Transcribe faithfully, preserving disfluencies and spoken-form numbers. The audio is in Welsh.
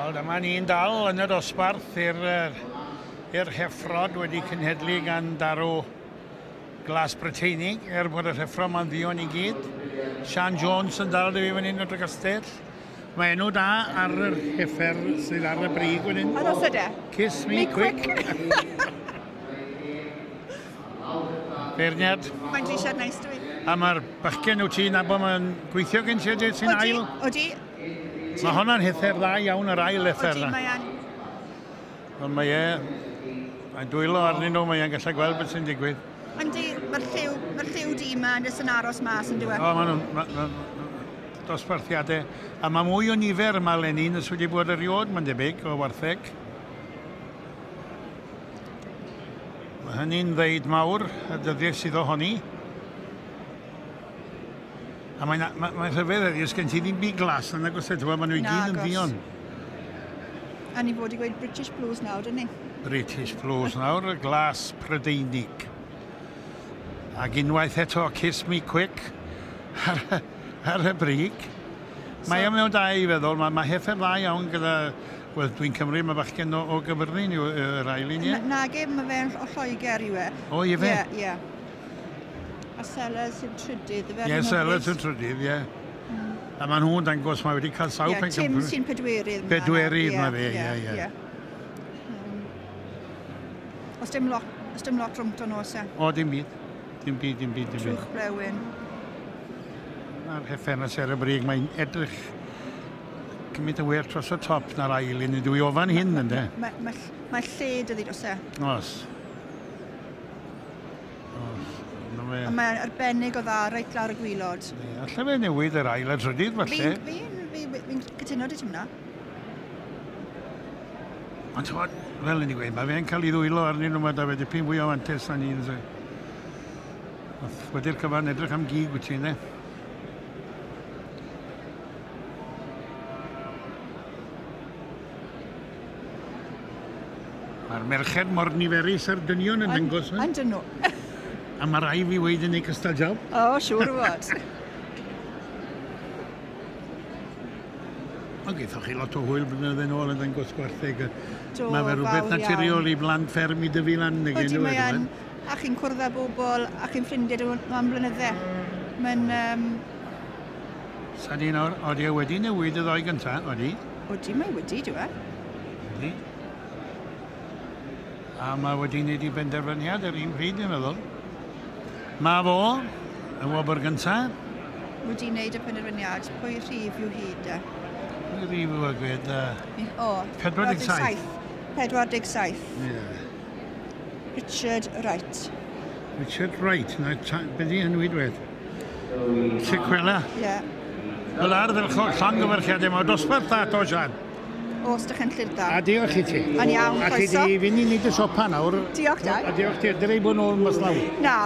Wel, dyma ni'n dal yn y dosbarth i'r i'r heffrod wedi cenhedlu gan darw glas Brydeinig, er bod yr heffro ma'n ddion i gyd. Sian Jones yn dal dy fi fan hyn o Dregastell. Mae enw da ar yr heffer sydd ar y brig fan hyn. A nos yde? Kiss me, me quick. quick. Beirniad. Mae'n drisiad neis dwi. A mae'r bachgen wyt ti'n nabod mae'n gweithio gen ti sy'n ail? Odi. Mae honna'n heffer dda iawn, yr ail heffer na. Odi, mae an. Ond mae e, mae'n dwylo arnyn nhw, mae e'n gallu gweld beth sy'n digwydd. Yndi, mae'r lliw, mae'r lliw di yma yn jyst yn aros mas yn diwedd. O, maen nhw'n ma, ma, dosbarthiadau. A mae mwy o nifer yma eleni nes wedi bod erioed, mae'n debyg, o wartheg. Mae hynny'n ddeud mawr, y dyddiau sydd ohoni. A mae'n ma, ma rhyfedd heddiw, sgen ti ddim byd glas yn agos eto, maen nhw i gyd yn ddion. A ni fod i gweud British Blues nawr, dyn ni? British Blues nawr, y glas Prydeinig. Ac unwaith eto, Kiss Me Quick ar, ar y brig. So, mae o mewn da i feddwl, mae, mae heffer dda iawn gyda, wel, dwi'n cymryd, mae bachgen o, o Gyfyrddin yw yr ail un, ie? Nage, mae fe'n o Lloegr yw e. O, i fe? Ie, ie. A Sellers yw'n trydydd. Ie, Sellers yw'n trydydd, ie. Mm. A maen nhw'n dangos, mae wedi cael sawl yeah, pencampwr. Tim sy'n pedwerydd. Pedwerydd mae fe, ie, ie. Os dim lot, os dim lot rhwng nhw, oes e? O, dim byd. Dim byd, dim byd, dim byd. Trwch blewyn. Mae'r heffernas ar y brig, mae'n edrych cymaint yn well dros y top na'r ail un. Dwi o fan hyn, ynddo? Mae ma, ma lle dydi dros e. Os. Os. A mae'n arbennig o dda reit lawr y gwylod. Alla fe newid yr ail a trydydd, falle. Fi'n fi, fi, fi cytuno dy ti hwnna. Ond ti'n fel ni'n gweud, mae fe'n cael ei ddwylo arnyn nhw, mae da fe dipyn fwy o fantes na ni. Wedi'r cyfan edrych am gig wyt ti, ynddo? Mae'r merched mor niferus a'r dynion yn dangos. Yn dyn nhw. A mae rai fi weid yn ei cystal job. O, siŵr o fod. Ond gaethoch chi lot o hwyl blynydde nôl yn dangos gwartheg. Do, mae fe rhywbeth naturiol i blant fferm i dyfu lan. Odi, mae yn. A chi'n cwrdd â bobl, a chi'n ffrindiau am blynydde. Mae'n... Um... Sa di nawr, odi e wedi newid y ddoi gyntaf, odi? Odi, mae wedi, dwi e. Odi. A mae wedi wneud i benderfyniad yr un pryd, dwi'n meddwl. Mae fo, y wobr gyntaf. Wedi wneud y penderfyniad, pwy rhif yw hyd e? Pwy rhif yw e gwed? O, pedwar deg saith. pedwar deg saith. Ie. Richard Wright. Richard Wright, na, beth i enw i dwed? Sequela. Ie. Wel ardderchog, llongyfarchiadau, mae dosbarth dda to, Sian. Os dych chi'n llyr da. A diolch i ti. Yn iawn, croeso. A ti di fynd i wneud y siopa nawr. Diolch, Dai. A diolch ti, dylai bod nôl mas lawr. Na.